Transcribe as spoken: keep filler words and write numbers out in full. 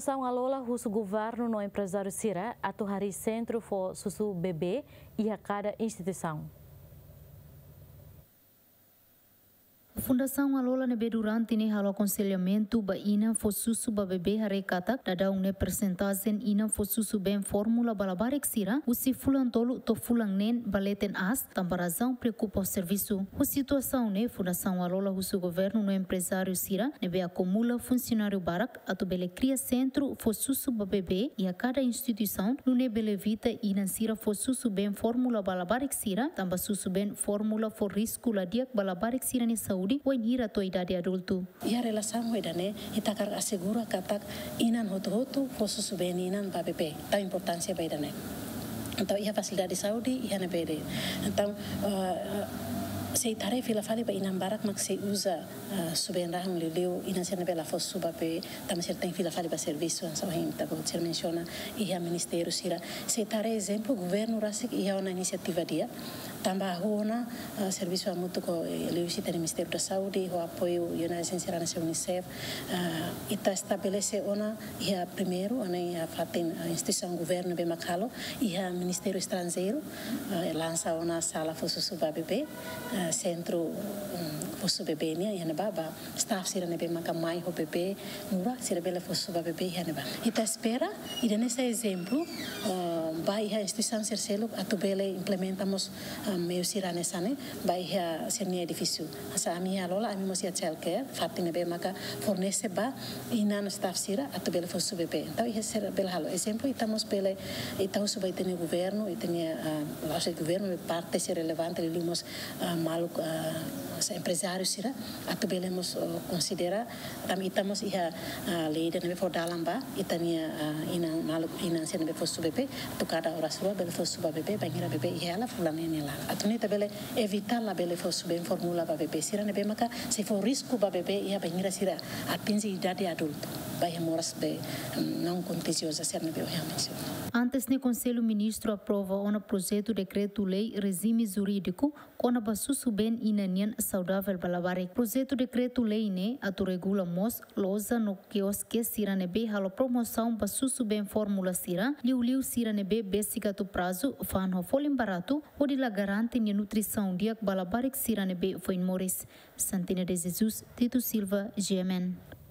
Fundasaun Alola husu governu no emprezáriu sira atu harii sentru fó susu bebé iha kada instituisaun. Fundasaun Alola ne'ebé durante ne'e halo akonselhamentu ba inan fó susu ba bebé haree katak daudaun ne'e persentajen inan fó susu been fórmula ba labarik sira husi fulan tolu to'o fulan neen ba leten aas, tanba razaun preokupa ho servisu. Ho situasaun ne'e, Fundasaun Alola husu governu no emprezáriu sira ne'ebé akumula funsionáriu barak atu bele kria sentru fó susu ba bebé iha kada instituisaun, nune'e bele evita inan sira fó susu been fórmula ba labarik sira, tanba susu been fórmula fó risku la di'ak ba labarik sira-nia saúde wainhira to'o idade adultu. Iha relasaun ho ida-ne'e, ita hakarak asegura katak inan hotu-hotu fó susu been inan ba bebé. Tau importánsia ba ida-ne'e. Entaun, iha fasilidade saúde, iha ne'ebé de'it. Entaun, eh, eh, sei ita haree fila fali ba inan barak mak sei uza, eh, susu been rahun, liuliu inan sira ne'ebé la fó susu ba bebé, tanba sira tenke fila fali ba servisu, hanesan ohin ita-boot sira mensiona, iha ministériu sira. Sei ita haree ezemplu, governu rasik iha ona inisiativa di'ak, tanba hahú ona, eh, servisu hamutuk ho, eh, liuhusi ita-nia Ministériu da Saúde, ho apoiu United Nations sira hanesan UNICEF, eh, ita estabelese ona iha primeiru, ona iha fatin, eh, instituisaun governu ne'ebé mak halo, iha Ministériu Estranjeiru, eh, lansa ona sala fó susu ba bebé, eh, sentru, mm, fó susu bebé nian, iha ne'ebá ba staff sira ne'ebé maka mai ho bebé, nurak sira bele fó susu ba bebé iha ne'ebá. Ita espera, ida-ne'e sai ezemplu, eh, ba iha instituisaun sira seluk atu bele implementa mós, eh, meiu sira hanesan ne'e, ba iha sira-nia edifísiu. Hanesan ami iha Alola, ami mós iha childcare, fatin ne'ebé maka fornese ba inan staff sira atu bele fó susu bebé. Entaun, iha sira bele halo. Ezemplu, ita mós bele, ita husu ba ita-nia governu, ita-nia, ah, la'ós de'it governu, parte sira relevante, liuliu mós, ah, maluk, ah, hanesan emprezáriu sira, atu bele mós, oh, konsidera, tanba ita mós iha, ah, lei ida ne'ebé fó dalan ba ita-nia, ah, inan maluk, inan sira ne'ebé fó susu bebé, atu kada oras rua bele fó susu ba bebé, bainhira bebé iha hela fulan neen nia laran. Atu nune'e ita bele evita labele fó susu been fórmula ba bebé sira ne'ebé maka sei fó risku ba bebé iha bainhira sira atinje idade adultu, ba iha moras be, mm, não contagiosa sira ne'ebé ohin ha'u mensiona. Antes ne'e, Konsellu Ministru aprova ona projetu dekretu-lei rejime jurídiku kona-ba susu been inan nian saudavel ba labarik. Projetu dekretu-lei ne'e atu regula mós loja no kioske sira ne'ebé halo promosaun ba susu been fórmula sira, liuliu sira ne'ebé besik atu prazu, fa'an ho folin baratu, hodi la garante nia nutrisaun di'ak ba labarik sira ne'ebé foin moris. Santina de Jesus, Tito Silva, G M N.